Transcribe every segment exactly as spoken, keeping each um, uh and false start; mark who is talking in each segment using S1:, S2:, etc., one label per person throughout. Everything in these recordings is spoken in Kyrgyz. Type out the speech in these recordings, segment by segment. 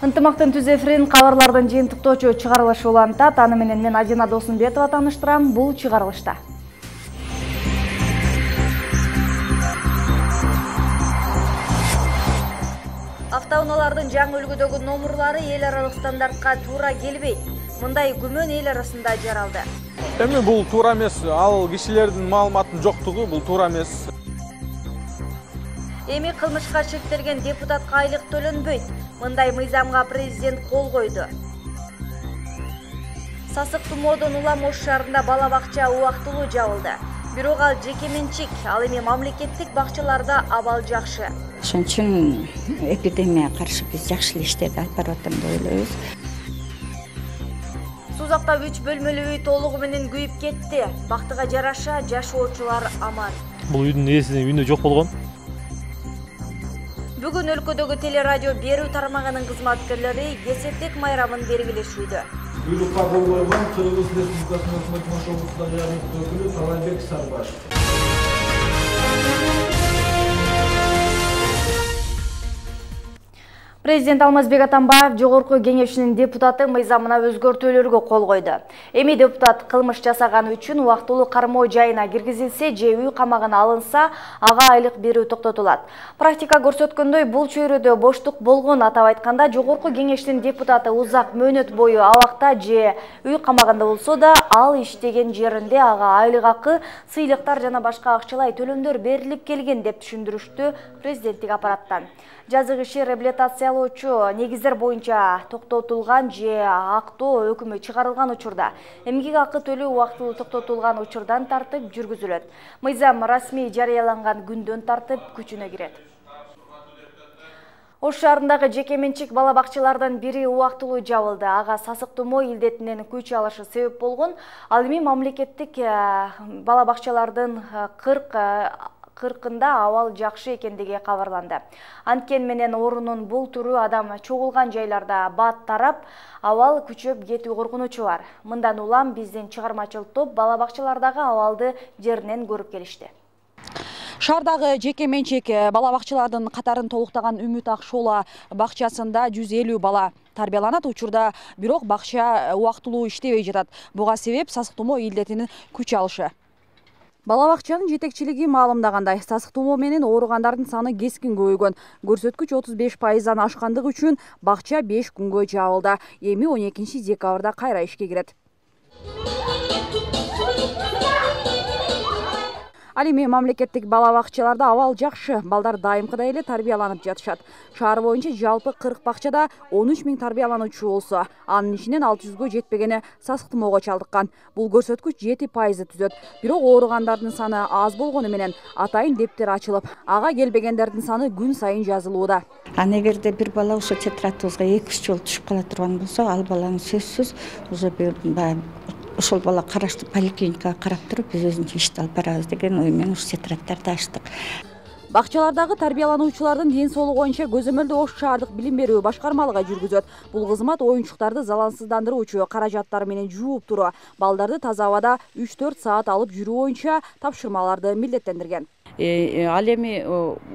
S1: Ынтымактын түз эфирин кабарлардын жыйынтыктоочу чыгарылышы улантат. Аны менен мен Ажина Досунбетова тааныштырам. Бул чыгарылышта. Автоунаалардын жаңы үлгүдөгү номурлары эл аралык стандартка туура келбейт. Мындай күмөн эл арасында жаралды.
S2: Эми бул туура эмес. Ал кишилердин маалыматынын жоктугу бул туура эмес.
S1: Эми кылмышка шектелген депутатка айлык төлөнбөйт. Мындай мыйзамга президент кол койду. Сасык тумоодон улам Ош шаарында бала бакча убактылуу жабылды. Бирок ал жеке менчик, ал эми мамлекеттик бакчаларда абал жакшы.
S3: Ошон үчүн эпидемияга каршы биз жакшы иштерди алып барып атам деп ойлойбуз.
S1: Сузакта үч бөлмөлүү үй толугу менен күйүп кетти. Бактыга жараша жашоочулар аман.
S4: Бул үйдүн ээсинин үйүндө жок болгон.
S1: Бүгүн өлкөдөгү телерадио берүү тармагынын кызматкерлери кесептик майрамын белгилешүүдө.
S5: Буйрукка кол койгон Кыргыз Республикасынын өкмөт машыгуусундагы жергиликтүү өкүлү Талайбек Сарбашев.
S1: Президент Алмазбек Атамбаев жогорку кеңешинин депутаты мыйзамына өзгөртүүлөргө кол койду. Эми депутат кылмыш жасаганы үчүн убактылуу кармоо жайына киргизилсе же үй камагына алынса, ага айлык берүү токтотулат. Практика көрсөткөндөй, бул чөйрөдө боштук болгон, атап айтканда, жогорку кеңештин депутаты узак мөөнөт бою абакта же үй камагында болсо да, ал иштеген жеринде ага айлык акы, сыйлыктар жана башка акчалай төлөмдөр берилип келген деп түшүндүрүштү президенттик аппараттан. Жазык иши реабилитациялоочу негиздер боюнча токтотулган же актоо өкүмү чыгарылган учурда эмгек акы төлөө убактылуу токтотулган учурдан тартып жүргүзүлөт. Мыйзам расмий жарыяланган күндөн тартып күчүнө кирет. Ош шаарындагы жеке менчик бала бакчалардын бири убактылуу жабылды. Ага сасык тумоо илдетинен күч алышы себеп болгон. Ал эми мамлекеттик бала бакчалардын кырк кыркында абал жакшы экендиги кабарланды. Анткени менен орунун бул түрү адам чогулган жайларда бат тарап, абал күчөп кетүү коркунучу бар. Мындан улам биздин чыгармачыл топ бала бакчалардагы абалды жеринен көрүп келишти.
S6: Шаардагы жеке менчик бала бакчалардын катарын толуктаган Үмүт Акшола бакчасында жүз элүү бала тарбияланат. Учурда бирок бакча убактылуу иштебей жатат. Буга себеп сасык тумоо илдетинин күч алышы. Бала бакчанын жетекчилиги маалымдагандай, сасык тумоо менен ооругандардын саны кескин көбөйгөн. Көрсөткүч отуз беш пайыздан ашкандыгы үчүн бакча беш күнгө жабылды. Эми он экинчи декабрда кайра ишке кирет. Ал эми мамлекеттик бала бакчаларда абал жакшы, балдар дайымкыдай эле тарбияланып жатышат. Шаар боюнча жалпы кырк бакчада он үч миң тарбиялануучу болсо, анын ичинен алты жүзгө жетпегени сасык тумоого чалдыккан. Бул көрсөткүч жети пайызды түзөт. Бирок ооругандардын саны аз болгону менен атайын дептер ачылып, ага келбегендердин саны күн сайын жазылууда.
S3: А эгерде бир бала ошо тетрадыбызга эки үч жолу түшүп кала турган болсо, ал баланы сөзсүз уже баягы ошол бала караштуу поликлиникага карап туруп, биз өзүнчө ишти алып барабыз деген ой менен ушу тетраддарды ачтык.
S6: Бакчалардагы тарбиялануучулардын ден соолугу боюнча көзөмөлдү Ош шаардык билим берүү башкармалыгы жүргүзөт. Бул кызмат оюнчуктарды залалсыздандыруучу, каражаттар менен жууп туруу, балдарды таза абада үч төрт саат алып жүрүү боюнча тапшырмаларды милдеттендирген.
S7: Ал эми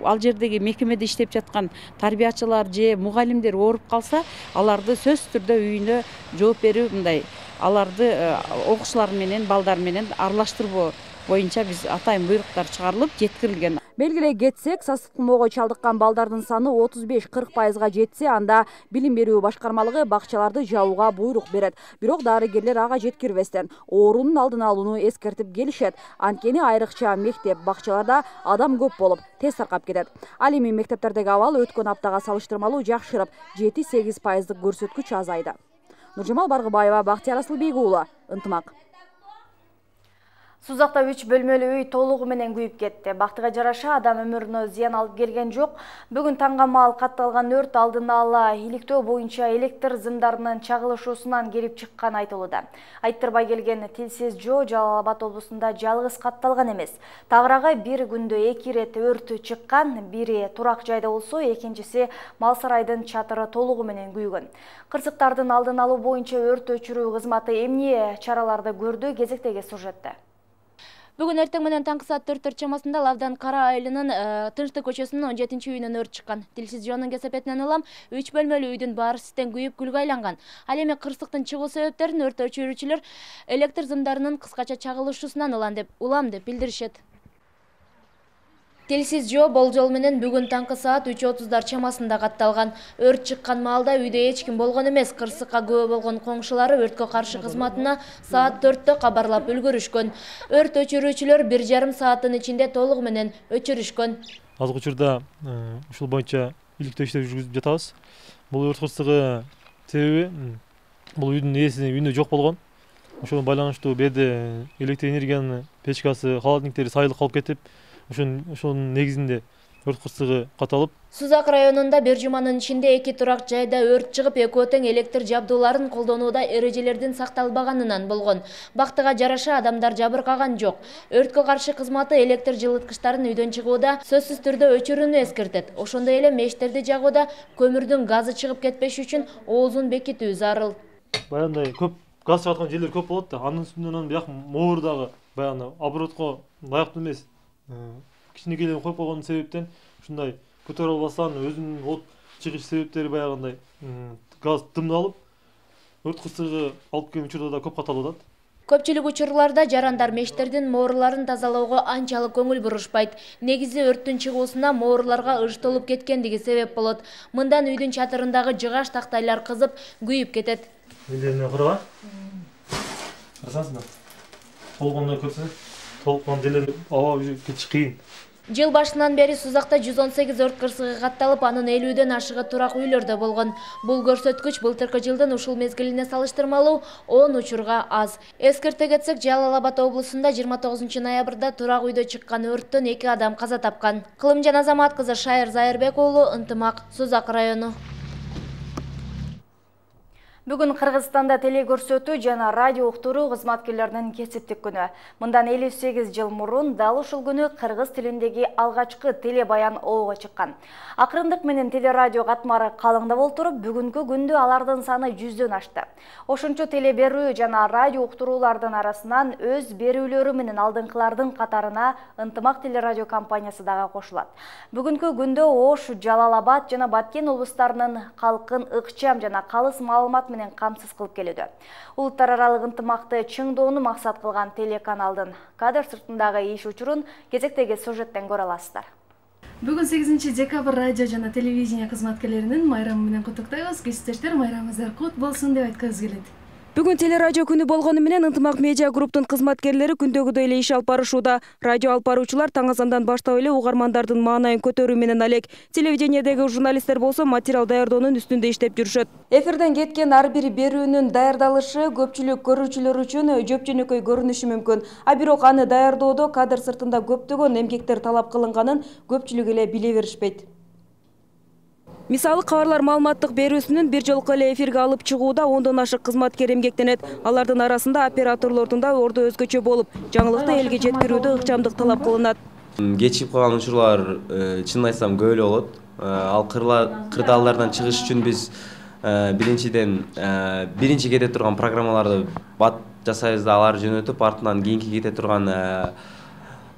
S7: ал жердеги мекемеде иштеп жаткан тарбиячылар же мугалимдер ооруп калса, аларды сөзсүз түрдө үйүнө жооп берүү мындай, аларды окуучулар менен балдар менен аралаштыруу боюнча биз атайын буйруктар чыгарылып жеткирилген.
S6: Белгилей кетсек, сасык тумоого чалдыккан балдардын саны отуз беш кырк пайызга жетсе, анда билим берүү башкармалыгы бакчаларды жабууга буйрук берет. Бирок дарыгерлер ага жеткирбестен оорунун алдын алууну эскертип келишет. Анткени айрыкча мектеп бакчаларда адам көп болуп, тез таркап кетет. Ал эми мектептердеги абал өткөн аптага салыштырмалуу жакшырып, жети сегиз пайыздык көрсөткүч азайды. Нуржамал Баргыбаева, Бактияр Асылбек уулу, Ынтымак.
S1: Сузакта үч бөлмөлүү үй толугу менен күйүп кетти. Бактыга жараша адам өмүрүнө зыян алып келген жок. Бүгүн таңга маал катталган өрт алдын ала иликтөө боюнча электр зымдарынын чагылышуусунан келип чыкканы айтылууда. Айттырбай келген Тилсиз Жоо Жалал Абад облусунда жалгыз катталган эмес. Тагыраагы бир күндө эки ирет өрт чыккан, бири турак жайда болсо, экинчиси мал сарайдын чатыры толугу менен күйгөн. Кырсыктардын алдын алуу боюнча өрт өчүрүү кызматы эмне чараларды көрдү, кезектеги сюжетте.
S8: Бүгүн эртең менен таңкы саат төрттөр чамасында Лавдан Кара айылынын Тынчтык көчөсүнүн он жетинчи үйүнөн өрт чыккан. Тилсиз жонун кесепетинен улам үч бөлмөлүү үйдүн баары ситтен күйүп күлгө айланган. Ал эми кырсыктын чыгуу себептерин өрт өчүрүүчүлөр электр зымдарынын кыскача чагылышуусунан улам деп улам деп билдиришет. Тилсиз жоо болжол менен бүгүн таңкы саат үч отуздар чамасында катталган. Өрт чыккан маалда үйдө эч ким болгон эмес. Кырсыкка күбө болгон коңшулары өрткө каршы кызматына саат төрттө кабарлап үлгүрүшкөн. Өрт өчүрүүчүлөр бир жарым сааттын ичинде толугу менен өчүрүшкөн.
S4: Азыркы учурда ушул боюнча иликтөө иштери жүргүзүп жатабыз. Бул өрт кырсыгы себеби бул үйдүн ээси үйүндө жок болгон. Ошого байланыштуу берде электр энергиянын печкасы, холодильниктери сайылып калып кетип, ошонун негизинде өрт кырсыгы каталып.
S8: Сузак районунда бир жуманын ичинде эки турак жайда өрт чыгып, экөө тең электр жабдууларын колдонууда эрежелердин сакталбаганынан болгон. Бактыга жараша адамдар жабыркаган жок. Өрткө каршы кызматы электр жылыткычтарын үйдөн чыгууда сөзсүз түрдө өчүрүүнү эскертет. Ошондой эле мештерди жагууда көмүрдүн газы чыгып кетпеш үчүн оозун бекитүү зарыл.
S4: Баягындай көп газ чыгаткан жерлер көп болот да, анын үстүнөн бияк моору дагы баягы оборотко ылайыктуу эмес. Кичинекейлерин коюп койгон себептен ушундай көтөрө албастан өзүнүн от чыгыш себептери баягындай газ дымдалып, өрт кырсыгы алып келген учурда да көп каталып атат.
S8: Көпчүлүк учурларда жарандар мештердин мооруларын тазалоого анчалык көңүл бурушпайт. Негизи өрттүн чыгуусуна мооруларга ыж толуп кеткендиги себеп болот. Мындан үйдүн чатырындагы жыгаш тактайлар кызып, күйүп кетет.
S4: Элдерине кырга. Карасаңыздар. Толгондой көрсө, толкон жерлер аба кетиш кыйын.
S8: Жыл башынан бери Сузакта жүз он сегиз өрт кырсыгы катталып, анын элүүдөн ашыгы турак үйлөрдө болгон. Бул көрсөткүч былтыркы жылдын ушул мезгилине салыштырмалуу он учурга аз. Эскерте кетсек, Жалал Абад облусунда жыйырма тогузунчу ноябрда турак үйдө чыккан өрттөн эки адам каза тапкан. Кылымжан Азамат кызы Шайыр Зайырбек уулу, Ынтымак, Сузак району.
S1: Бүгүн Кыргызстанда телекөрсөтүү жана радио уктуруу кызматкерлеринин кесиптик күнү. Мындан элүү сегиз жыл мурун дал ушул күнү кыргыз тилиндеги алгачкы телебаян оого чыккан. Акырындык менен телерадио катмары калыңдап олтуруп, бүгүнкү күндө алардын саны жүздөн ашты. Ошончо теле берүү жана радио уктуруулардын арасынан өз берүүлөрү менен алдыңкылардын катарына Ынтымак телерадио компаниясы дагы кошулат. Бүгүнкү күндө Ош, Жалал Абад жана Баткен облустарынын калкын ыкчам жана калыс маалымат менен камсыз кылып келүүдө. Улуттар аралык ынтымакты чыңдоону максат кылган телеканалдын кадр сыртындагы иш учурун кезектеги сюжеттен көрө аласыздар.
S9: Бүгүн сегизинчи декабрь радио жана телевидение кызматкерлеринин майрамы менен куттуктайбыз. Кесиптештер, майрамыңыздар кут болсун деп айткыбыз келет.
S6: Бүгүн телерадио күнү болгону менен Ынтымак медиа групптун кызматкерлери күндөгүдөй эле иш алып барышууда. Радио алып баруучулар таң азандан баштап эле угармандардын маанайын көтөрүү менен алек. Телевидениедеги журналисттер болсо материал даярдоонун үстүндө иштеп жүрүшөт. Эфирден кеткен ар бир берүүнүн даярдалышы көпчүлүк көрүүчүлөр үчүн жөп жөнөкөй көрүнүшү мүмкүн. А бирок аны даярдоодо кадр сыртында көптөгөн эмгектер талап кылынганын көпчүлүк эле биле беришпейт. Мисалы, кабарлар маалыматтык берүүсүнүн бир жолку эле эфирге алып чыгууда ондон ашык кызматкер эмгектенет. Алардын арасында операторлордун да орду өзгөчө болуп, жаңылыкты элге жеткирүүдө ыкчамдык талап кылынат.
S10: Кечип калган учурлар чынын айтсам көп эле болот. Ал кырдаалдардан чыгыш үчүн биз биринчиден биринчи кете турган программаларды бат жасайбыз да алар жөнөтүп, артынан кийинки кете турган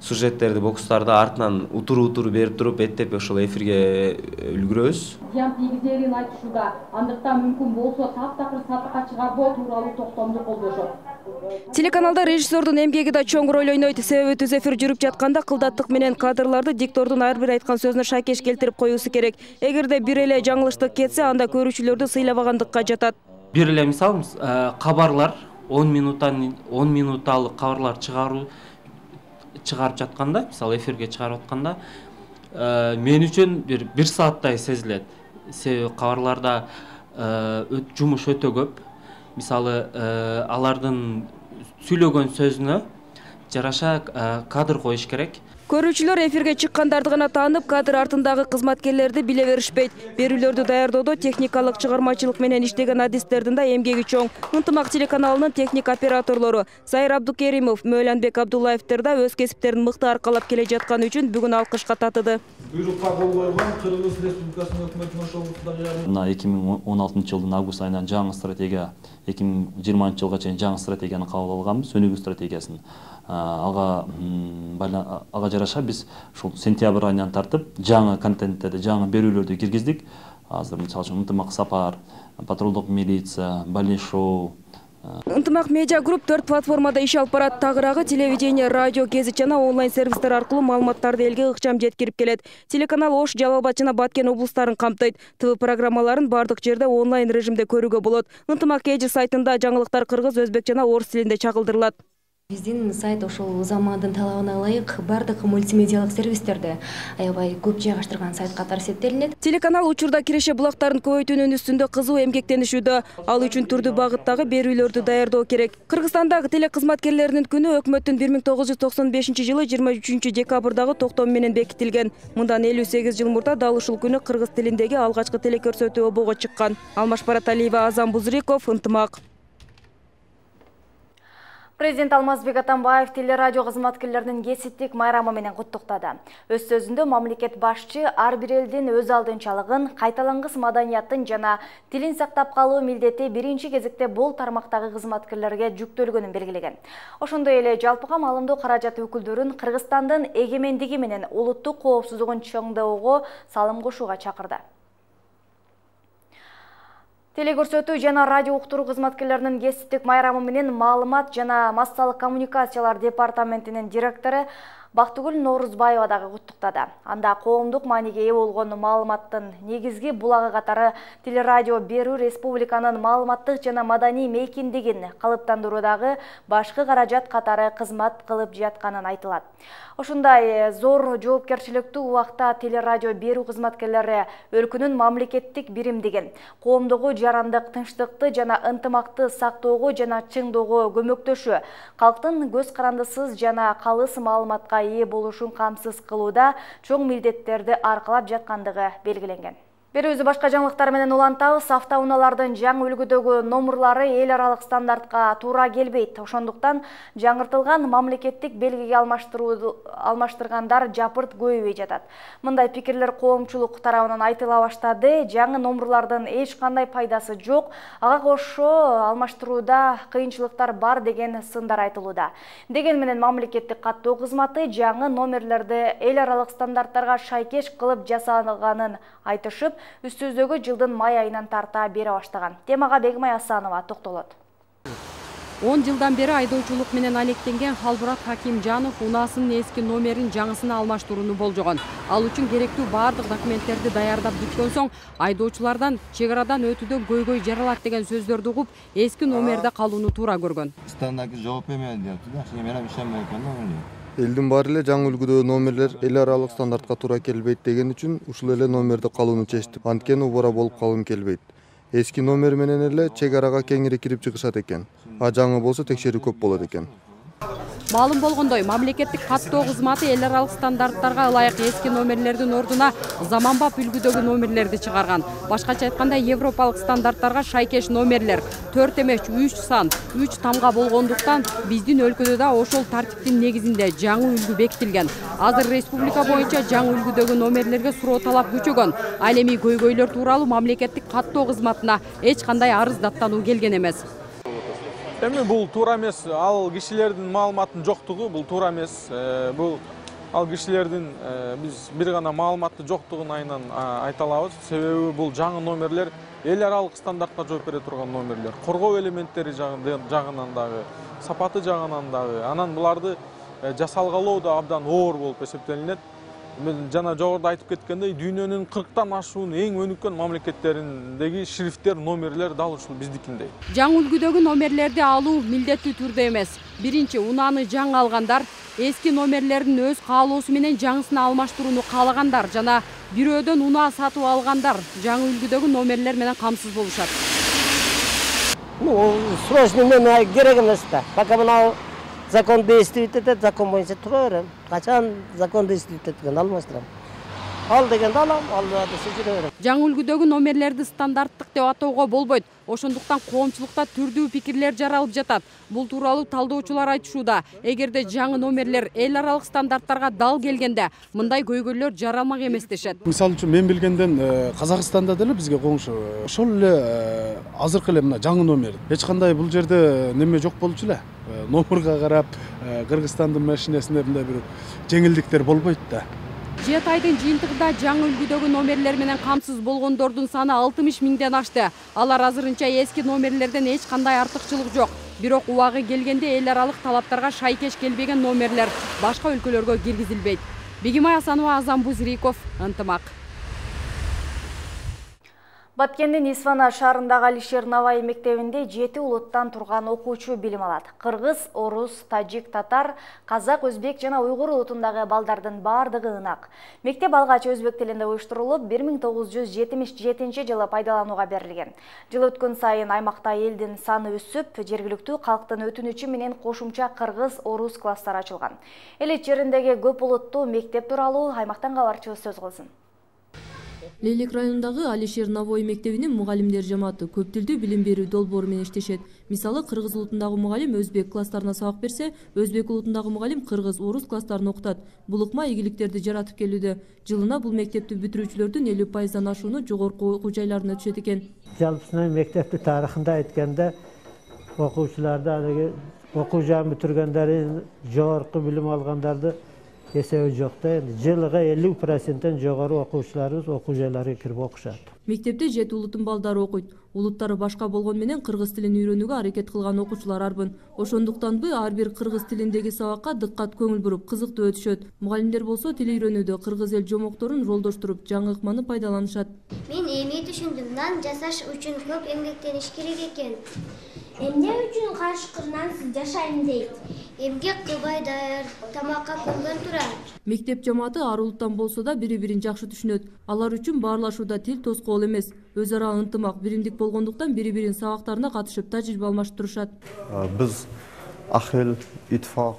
S10: сюжеттерди, бокстарды артынан утуру-утуру берип туруп, эттеп ошол эфирге үлгүрөбүз.
S11: Зыян тийгизерин айтышууда, андыктан мүмкүн болсо таптакыр сатыкка чыгарбоо тууралуу токтомду колдошот.
S6: Телеканалда режиссердун эмгеги да чоң роль ойнойт. Себеби түз эфир жүрүп жатканда кылдаттык менен кадрларды диктордун ар бир айткан сөзүнө шайкеш келтирип коюусу керек. Эгерде бир эле жаңылыштык кетсе, анда көрүүчүлөрдү сыйлабагандыкка жатат.
S12: Бир эле мисал, кабарлар он минуттан он минутталык кабарлар чыгаруу чыгарып жатканда, мисалы эфирге чыгарып атканда, мен үчүн бир бир сааттай сезилет. Себеби кабарларда жумуш өтө көп. Мисалы алардын сүйлөгөн сөзүнө жараша кадр коюш керек.
S6: Көрүүчүлөр эфирге чыккандарды гана таанып, кадр артындагы кызматкерлерди биле беришпейт. Берүүлөрдү даярдоодо техникалык чыгармачылык менен иштеген адистердин да эмгеги чоң. Ынтымак телеканалынын техник операторлору Сайыр Абдукеримов, Мөөлөнбек Абдуллаевдер да өз кесиптерин мыкты аркалап келе жатканы үчүн бүгүн алкышка татыды.
S5: Буйрукка кол койгон Кыргыз Республикасынын өкмөтүнүн Ош облусундагы
S13: мына эки миң он алтынчы жылдын август айынан жаңы стратегия, эки миң жыйырманчы жылга чейин жаңы стратегияны кабыл алганбыз, өнүгүү стратегиясын. ага ага жараша биз ушул сентябрь айынан тартып жаңы контенттерди, жаңы берүүлөрдү киргиздик. Азыр мисалы үчүн ынтымак сапар, патрулдук милиция, больный шоу.
S14: Ынтымак медиа групп төрт платформада иш алып барат. Тагыраагы телевидение, радио, гезит жана онлайн сервистер аркылуу маалыматтарды элге ыкчам жеткирип келет. Телеканал Ош, Жалал Абад жана Баткен облустарын камтыйт. ТВ программаларын бардык жерде онлайн режимде көрүүгө болот. Ынтымак эжи сайтында жаңылыктар кыргыз, өзбек жана орус тилинде чагылдырылат.
S15: Биздин сайт ошол замандын талабына ылайык бардык мультимедиалык сервистерди аябай көп жайгаштырган сайт катары эсептелинет.
S14: Телеканал учурда киреше булактарын көбөйтүүнүн үстүндө кызуу эмгектенишүүдө. Ал үчүн түрдүү багыттагы берүүлөрдү даярдоо керек. Кыргызстандагы телекызматкерлеринин күнү өкмөттүн бир миң тогуз жүз токсон бешинчи жылы жыйырма үчүнчү декабрдагы токтому менен бекитилген. Мындан элүү сегиз жыл мурда дал ушул күнү кыргыз тилиндеги алгачкы телекөрсөтүү обого чыккан. Алмаш Бараталиева, Азам Бузриков, Ынтымак.
S1: Президент Алмазбек Атамбаев телерадио кызматкерлеринин кесиптик майрамы менен куттуктады. Өз сөзүндө мамлекет башчы ар бир элдин өз алдынчалыгын, кайталангыс маданияттын жана тилин сактап калуу милдети биринчи кезекте бул тармактагы кызматкерлерге жүктөлгөнүн белгилеген. Ошондой эле жалпыга маалымдоо каражаты өкүлдөрүн Кыргызстандын эгемендиги менен улуттук коопсуздугун чыңдоого салым кошууга чакырды. Телекөрсөтүү жана радио уктуруу кызматкерлеринин кесиптик майрамы менен маалымат жана массалык коммуникациялар департаментинин директору Бактыгүл Норузбаева дагы куттуктады. Анда коомдук мааниге ээ болгон маалыматтын негизги булагы катары телерадио берүү республиканын маалыматтык жана маданий мейкиндигин калыптандыруудагы башкы каражат катары кызмат кылып жатканын айтылат. Ошондой зор жоопкерчиликтүү убакта телерадио берүү кызматкерлери өлкөнүн мамлекеттик биримдигин, коомдогу жарандык, тынчтыкты жана ынтымакты сактоого жана чыңдоого көмөктөшүү, калктын көз карандысыз жана калыс маалыматка ээ болушун камсыз кылууда чоң милдеттерди аркалап жаткандыгы белгиленген. Берүүбүздү башка жаңылыктар менен улантабыз. Автоунаалардын жаңы үлгүдөгү номерлары эл аралык стандартка туура келбейт. Ошондуктан жаңыртылган мамлекеттик белгиге алмаштыргандар жапырт көбөйбөй жатат. Мындай пикирлер коомчулук тарабынан айтыла баштады. Жаңы номерлардын эч кандай пайдасы жок, ага кошо алмаштырууда кыйынчылыктар бар деген сындар айтылууда. Деген менен мамлекеттик каттоо кызматы жаңы номерлерди эл аралык стандарттарга шайкеш кылып жасалганын айтышып, үстүбүздөгү жылдын май айынан тарта бере баштаган. Темага Бегмай Асанова токтолот.
S16: он жылдан бери айдоочулук менен алектенген Халбурат Хакимжанов унаасынын эски номерин жаңысына алмаштырууну болжогон. Ал үчүн керектүү бардык документтерди даярдап бүткөн соң айдоочулардан чек арадан өтүүдө көйгөй жаралат деген сөздөрдү угуп, эски номерде калууну туура көргөн.
S17: Стандарт жооп бермейт депти. Мен эми ишенбей экен.
S18: Элдин баары эле жаңы үлгүдөгү номерлер эл аралык стандартка туура келбейт деген үчүн ушул эле номерди калууну чечтим. Анткени убара болуп калгым келбейт. Эски номер менен эле чек арага кеңири кирип чыгышат экен. А жаңы болсо текшерүү көп болот экен.
S16: Маалым болгондой, мамлекеттик каттоо кызматы эл аралык стандарттарга ылайык эски номерлердин ордуна заманбап үлгүдөгү номерлерди чыгарган. Башкача айтканда, европалык стандарттарга шайкеш номерлер төрт эмес үч сан, үч тамга болгондуктан биздин өлкөдө да ошол тартиптин негизинде жаңы үлгү бекитилген. Азыр республика боюнча жаңы үлгүдөгү номерлерге суроо талап күчөгөн. Ал эми көйгөйлөр тууралуу мамлекеттик каттоо кызматына эч кандай арыз даттануу келген эмес.
S2: Эми бул туура эмес, ал кишилердин маалыматтын жоктугу бул туура эмес. Бул ал кишилердин биз бир гана маалыматтын жоктугун айынан айта алабыз. Себеби бул жаңы номерлер эл аралык стандартка жооп бере турган номерлер. Коргоо элементтери жагынан дагы, сапаты жагынан дагы, анан буларды жасалгалоо да абдан оор болуп эсептелинет. Мен жана жогоруда айтып кеткендей, дүйнөнүн кырктан ашуун эң өнүккөн мамлекеттериндеги шрифттер, номерлер дал ушул биздикиндей.
S16: Жаңы үлгүдөгү номерлерди алуу милдеттүү түрдө эмес. Биринчи, унааны жаңы алгандар, эски номерлердин өз каалоосу менен жаңысына алмаштырууну каалагандар жана бирөөдөн унаа сатып алгандар жаңы үлгүдөгү номерлер менен камсыз болушат.
S19: Ну, срочно мен керек эмес да. Пока мына закон действует этет, закон боюнча тура берем. Качан закон действует эткен алмаштырам. ал дегенде алам, ал десе жүрө берем.
S16: Жаңы үлгүдөгү номерлерди стандарттык деп атоого болбойт. Ошондуктан коомчулукта түрдүү пикирлер жаралып жатат. Бул тууралуу талдоочулар айтышууда. Эгерде жаңы номерлер эл аралык стандарттарга дал келгенде, мындай көйгөйлөр жаралмак эмес дешет.
S20: Мисалы үчүн мен билгенден Казакстанда деле бизге коңшу ошол эле азыркы эле мына жаңы номер. Эч кандай бул жерде неме жок болчу эле. Номерге карап, Кыргызстандын машинесинде мындай бир жеңилдиктер болбойт да.
S16: жети айдын жыйынтыгында жаңы үлгүдөгү номерлер менен камсыз болгондордун саны алтымыш миңден ашты. Алар азырынча эски номерлерден эч кандай артыкчылык жок. Бирок убагы келгенде эл аралык талаптарга шайкеш келбеген номерлер башка өлкөлөргө киргизилбейт. Бегимай Асанова, Азам Бузриков, Ынтымак.
S1: Баткендин Исфана шаарындагы Алишер Наваи мектебинде жети улуттан турган окуучу билим алат. Кыргыз, орус, тажик, татар, казак, өзбек жана уйгур улутундагы балдардын бардыгы ынак. Мектеп алгач өзбек тилинде уюштурулуп, бир миң тогуз жүз жетимиш жетинчи жылы пайдаланууга берилген. Жыл өткөн сайын аймакта элдин саны өсүп, жергиликтүү калктын өтүнүчү менен кошумча кыргыз, орус класстары ачылган. Эл ичеридеги көп улуттуу мектеп тууралуу аймактан кабарчыбыз сөз кылсын.
S21: Лейлек районундагы Алишер Наваи мектебинин мугалимдер жамааты көп тилдүү билим берүү долбоору менен иштешет. Мисалы, кыргыз улутундагы мугалим өзбек класстарына сабак берсе, өзбек улутундагы мугалим кыргыз, орус класстарын окутат. Бул ыкма ийгиликтерди жаратып келүүдө. Жылына бул мектепти бүтүрүүчүлөрдүн элүү пайыздан ашууну жогорку окуу жайларына түшөт экен.
S22: Жалпысынан мектепти тарыхында айтканда, окуучуларды, окуу жайын бүтүргөндөрдүн, жогорку билим алгандарды эсеби жок да. Жылга элүү проценттен жогору окуучуларыбыз окуу жайларына кирип окушат.
S21: Мектепте жети улуттун балдары окуйт. Улуттары башка болгон менен кыргыз тилин үйрөнүүгө аракет кылган окуучулар арбын. Ошондуктанбы ар бир кыргыз тилиндеги сабакка дыккат көңүл буруп, кызыктуу өтүшөт. Мугалимдер болсо тил үйрөнүүдө кыргыз эл жомокторун ролдоштуруп, жаңы ыкманы пайдаланышат.
S23: Мен эми түшүндүм, нан жасаш үчүн көп эмгектениш керек экен. Эмне үчүн кашкыр нансыз жашайм дейт? Эмгек кылбай даяр тамакка көнгөн турат.
S21: Мектеп жамааты ар улуттан болсо да бири-бирин жакшы түшүнөт. Алар үчүн баарлашууда тил тоскоол эмес. Өз ара ынтымак, биримдик болгондуктан бири-биринин сабактарына катышып, тажрыйба алмаштырышат.
S24: Биз ак эл, итфак.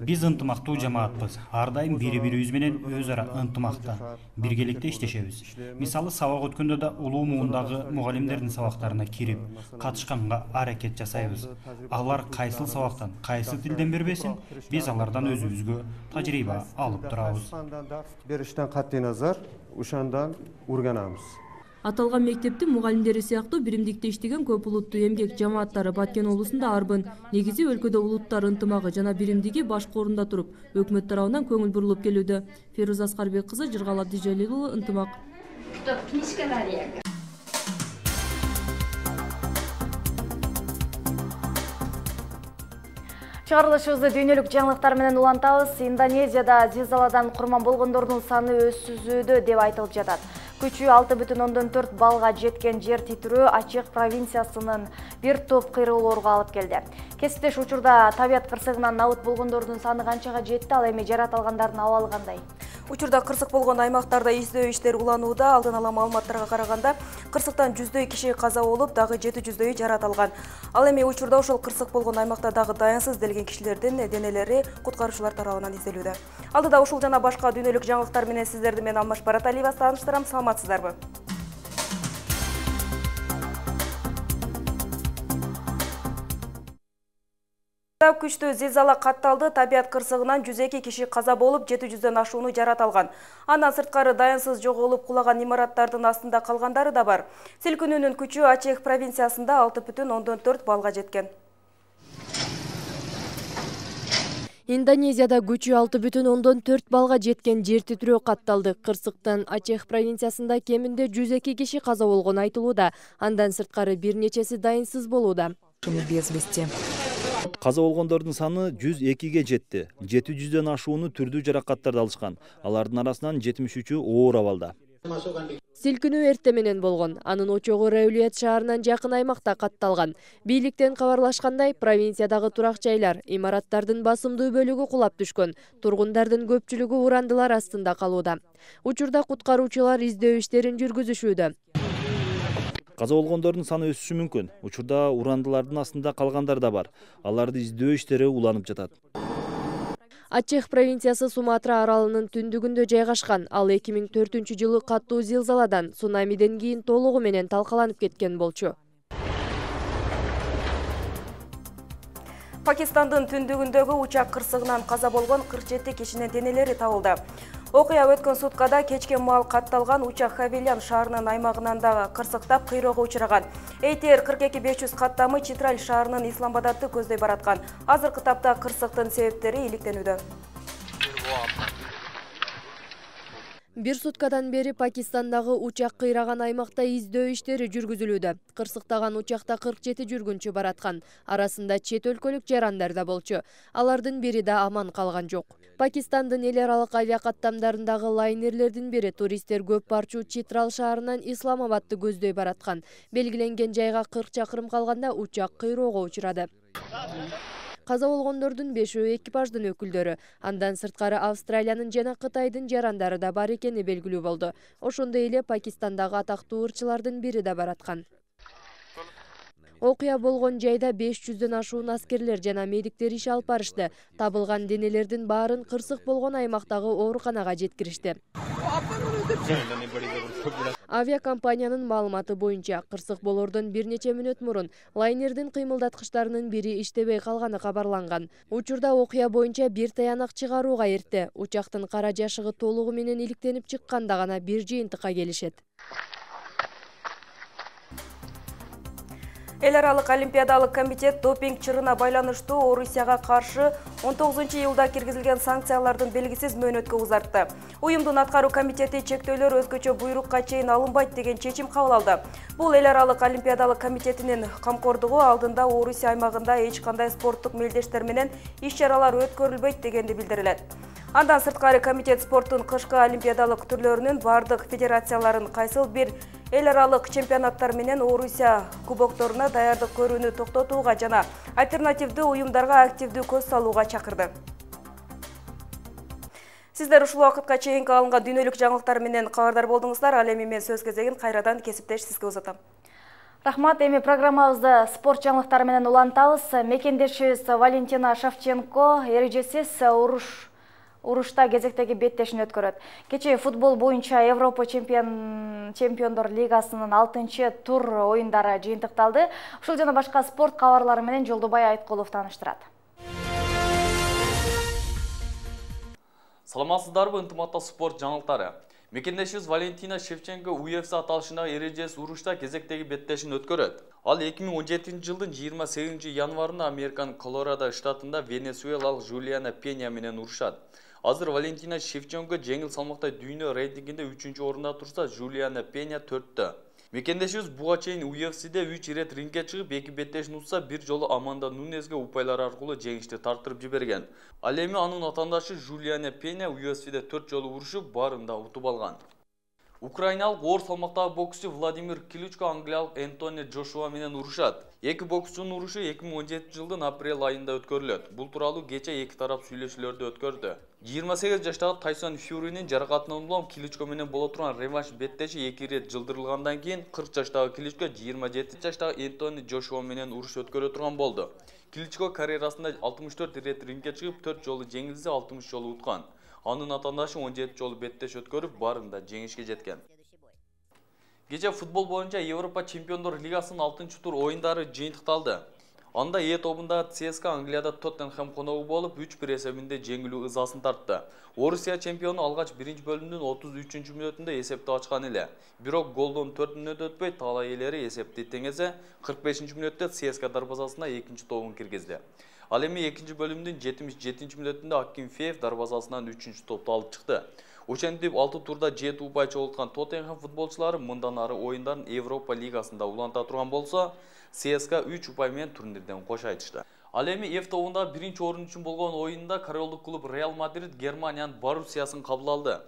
S25: Биз ынтымактуу жамаатпыз. Ар дайым бири-бирибиз менен өз ара ынтымакта, биргеликте иштешебиз. Мисалы, сабак өткөндө да улуу муундагы мугалимдердин сабактарына кирип, катышканга аракет жасайбыз. Алар кайсыл сабактан, кайсы тилден бербесин, биз алардан өзүбүзгө тажрыйба алып турабыз.
S24: Бериштен катгый назар, ушандан урганабыз.
S21: Аталган мектептин мугалимдери сыяктуу биримдикте иштеген көп улуттуу эмгек жамааттары Баткен облусунда арбын. Негизи өлкөдө улуттар ынтымагы жана биримдиги башкы орунда туруп, өкмөт тарабынан көңүл бурулуп келүүдө. Феруза Аскарбек кызы, Жыргал Абдижалил уулу, Ынтымак.
S1: Чыгарылышыбызды дүйнөлүк жаңылыктар менен улантабыз. Индонезияда зилзаладан курман болгондордун саны өсүүдө деп айтылып жатат. Күчү алты бүтүн ондон төрт балга жеткен жер титирөө Ачех провинциясынын бир топ кыйроолорго алып келди. Кесиптеш учурда табият кырсыгынан набыт болгондордун саны канчага жетти, ал эми жаратылгандардын абалы кандай?
S6: Учурда кырсык болгон аймактарда издөө иштери уланууда. Алдын ала маалыматтарга караганда, кырсыктан жүздөй киши каза болуп, дагы жети жүздөйү жаратылган. Ал эми учурда ошол кырсык болгон аймакта дагы даянсыз делген кишилердин денелери куткаруучулар тарабынан изделүүдө. Алдыда ушул жана башка дүйнөлүк жаңылыктар менен сиздерди мен Алмаш Бараталиева тааныштырам. Саламатсыздарбы? Күчтүү зилзала катталды. Табият кырсыгынан жүз эки киши каза болуп, жети жүздөн ашууну жаратылган. Андан сырткары даянсыз жоголуп кулаган имараттардын астында калгандары да бар. Силкинүүнүн күчү Ачех провинциясында алты бүтүн ондон төрт балга жеткен.
S26: Индонезияда күчү алты бүтүн ондон төрт балга жеткен жер титирөө катталды. Кырсыктан Ачех провинциясында кеминде жүз эки киши каза болгон айтылууда. Андан сырткары бир нечеси дайынсыз болууда.
S27: Каза болгондордун саны жүз экиге жетти. жети жүздөн ашууну түрдүү жаракаттарды алышкан. Алардын арасынан жетимиш үчү оор абалда.
S26: Силкинүү эрте менен болгон. Анын очогу Раулиет шаарынан жакын аймакта катталган. Бийликтен кабарлашкандай, провинциядагы турак жайлар, имараттардын басымдуу бөлүгү кулап түшкөн. Тургундардын көпчүлүгү урандылар астында калууда. Учурда куткаруучулар издөө иштерин жүргүзүшүүдө.
S27: Каза болгондордун саны өсүшү мүмкүн. Учурда урандылардын астында калгандар да бар. Аларды издөө иштери уланып жатат.
S26: Ачех провинциясы Суматра аралынын түндүгүндө жайгашкан. Ал эки миң төртүнчү жылы каттуу зилзаладан, цунамиден кийин толугу менен талкаланып кеткен болчу.
S3: Пакистандын түндүгүндөгү учак кырсыгынан каза болгон кырк жети кишинин денелери табылды. Окуя өткөн суткада кечке маал катталган учак Хавильян шаарынын аймагынан дагы кырсыктап кыйроого учураган. Эйтер кырк эки беш жүз каттамы Читраль шаарынын Исламбадатты көздөй бараткан. Азыркы тапта кырсыктын себептери иликтенүүдө.
S26: Бир суткадан бери Пакистандагы учак кыйраган аймакта издөө иштери жүргүзүлүүдө. Кырсыктаган учакта кырк жети жүргүнчү бараткан. Арасында чет өлкөлүк жарандар да болчу. Алардын бири да аман калган жок. Пакистандын эл аралык авиакаттамдарындагы лайнерлердин бири туристтер көп барчу Читрал шаарынан Исламабадты көздөй бараткан. Белгиленген жайга кырк чакырым калганда учак кыйроого учурады. Каза болгондордун бешөө экипаждын өкүлдөрү. Андан сырткары Австралиянын жана Кытайдын жарандары да бар экени белгилүү болду. Ошондой эле Пакистандагы атактуу ырчылардын бири да бараткан. Окуя болгон жайда беш жүздөн ашуун аскерлер жана медиктер иш алып барышты. Табылган денелердин баарын кырсык болгон аймактагы ооруканага жеткиришти. Авиакомпаниянын маалыматы боюнча, кырсык болордон бир нече мүнөт мурун лайнердин кыймылдаткычтарынын бири иштебей калганы кабарланган. Учурда окуя боюнча бир таянак чыгарууга эрте. Учактын кара жашыгы толугу менен иликтенип чыкканда гана бир жыйынтыкка келишет.
S3: Эл аралык олимпиадалык комитет допинг чырына байланыштуу Орусияга каршы он тогузунчу июлда киргизилген санкциялардын белгисиз мөөнөткө узартты. Уюмдун аткаруу комитети чектөөлөр өзгөчө буйрукка чейин алынбайт деген чечим кабыл алды. Бул эл аралык олимпиадалык комитетинин камкордугу алдында Орусия аймагында эч кандай спорттук мелдештер менен иш-чаралар өткөрүлбөйт дегенди билдирилет. Андан сырткары комитет спорттун кышкы олимпиадалык түрлөрүнүн бардык федерацияларын кайсыл бир эл аралык чемпионаттар менен Орусия кубокторуна даярдык көрүүнү токтотууга жана альтернативдүү уюмдарга активдүү көз салууга чакырды. Сиздер ушул убакытка чейинки алынган дүйнөлүк жаңылыктар менен кабардар болдуңуздар. Ал эми мен сөз кезегин кайрадан кесиптеш сизге узатам.
S1: Рахмат, эми программабызды спорт жаңылыктары менен улантабыз. Мекендешибиз Валентина Шевченко эрежесиз уруш урушта кезектеги беттешин өткөрөт. Кечээ футбол боюнча Европа чемпион чемпиондор лигасынын алтынчы тур оюндары жыйынтыкталды. Ушул жана башка спорт кабарлары менен Жолдубай Айткулов тааныштырат.
S4: Саламатсыздарбы, ынтымактуу спорт жаңылыктары. Мекендешибиз Валентина Шевченко у эф си аталышындагы эрежесиз урушта кезектеги беттешин өткөрөт. Ал эки миң он жетинчи жылдын жыйырма сегизинчи январында Американын Колорадо штатында венесуэлалык Жулиана Пеня менен урушат. Азыр Валентина Шевченко жеңил салмакта дүйнө рейтингинде үчүнчү орунда турса, Жулиана Пеня төрттө. Мекендешибиз буга чейин у эф сиде үч ирет рингге чыгып, эки беттешин утса, бир жолу Аманда Нунезге упайлар аркылуу жеңишти тартырып жиберген. Ал эми анын атаандашы Жулиана Пеня у эф сиде төрт жолу урушуп, баарында утуп алган. Украиналык оор салмактагы боксчу Владимир Кличко англиялык Энтони Джошуа менен урушат. Эки боксчунун урушу эки миң он жетинчи жылдын апрель айында өткөрүлөт. Бул тууралуу кече эки тарап сүйлөшүүлөрдү өткөрдү. жыйырма сегиз жаштагы Тайсон Фьюринин жаракатынан улам Кличко менен боло турган реванш беттеши эки ирет жылдырылгандан кийин кырк жаштагы Кличко жыйырма жети жаштагы Энтони Джошуа менен уруш өткөрө турган болду. Кличко карьерасында алтымыш төрт ирет рингге чыгып, төрт жолу жеңилсе, алтымыш жолу уткан. Анын атаандашы он жети жолу беттеш өткөрүп, баарында жеңишке жеткен. Кече футбол боюнча Европа чемпиондор лигасынын алтынчы тур оюндары жыйынтыкталды. Анда Е тобунда ЦСКА Англияда Тоттенхэм коногу болуп, үч бир эсебинде жеңилүү ызасын тартты. Орусия чемпиону алгач биринчи бөлүмдүн отуз үчүнчү мүнөтүндө эсепти ачкан эле. Бирок голдон төрт мүнөт өтпөй талай ээлери эсепти теңесе, кырк бешинчи мүнөттө ЦСКА дарбазасына экинчи тобун киргизди. Ал эми экинчи бөлүмдүн жетимиш жетинчи мүнөтүндө Акинфеев дарбазасынан үчүнчү топту алып чыкты. Ошентип алты турда жети упай чогулткан Тоттенхэм футболчулары мындан ары оюндарын Европа лигасында уланта турган болсо, ЦСКА үч упай менен турнирден кош айтышты. Ал эми F тобунда биринчи орун үчүн болгон оюнда королдук клуб Реал Мадрид Германиянын Боруссиясын кабыл алды.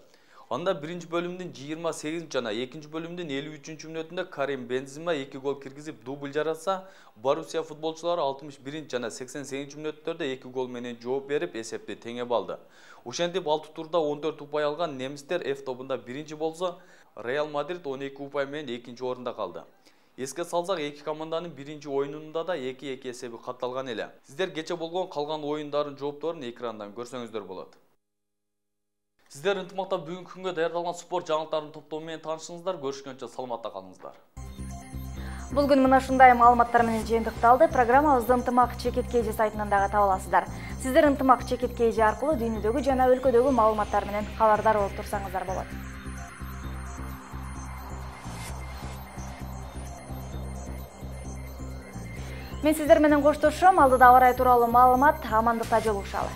S4: Анда биринчи бөлүмдүн жыйырма сегизинчи жана экинчи бөлүмдүн элүү үчүнчү мүнөтүндө Карим Бензема эки гол киргизип дубль жаратса, Боруссия футболчулары алтымыш биринчи жана сексен сегизинчи мүнөттөрдө эки гол менен жооп берип, эсепти теңеп алды. Ошентип алты турда он төрт упай алган немистер F тобунда биринчи болсо, Реал Мадрид он эки упай менен экинчи орунда калды. Эске салсак, эки команданын биринчи оюнунда да эки эки эсеби катталган эле. Сиздер кече болгон калган оюндардын жоопторун экрандан көрсөңүздөр болот. Сиздер ынтымактап бүгүнкү күнгө даярдалган спорт жаңылыктарынын топтому менен таанышыңыздар. Көрүшкөнчө саламатта калыңыздар.
S1: Бул күн мына ушундай маалыматтар менен жыйынтыкталды. Программабызды ынтымак чекит кж сайтынан дагы таба аласыздар. Сиздер ынтымак чекит кж аркылуу дүйнөдөгү жана өлкөдөгү маалыматтар менен кабардар болуп турсаңыздар болот. Мен сиздер менен коштошом. Алдыда аба ырайы тууралуу маалымат. Амандыкта жолугушалы.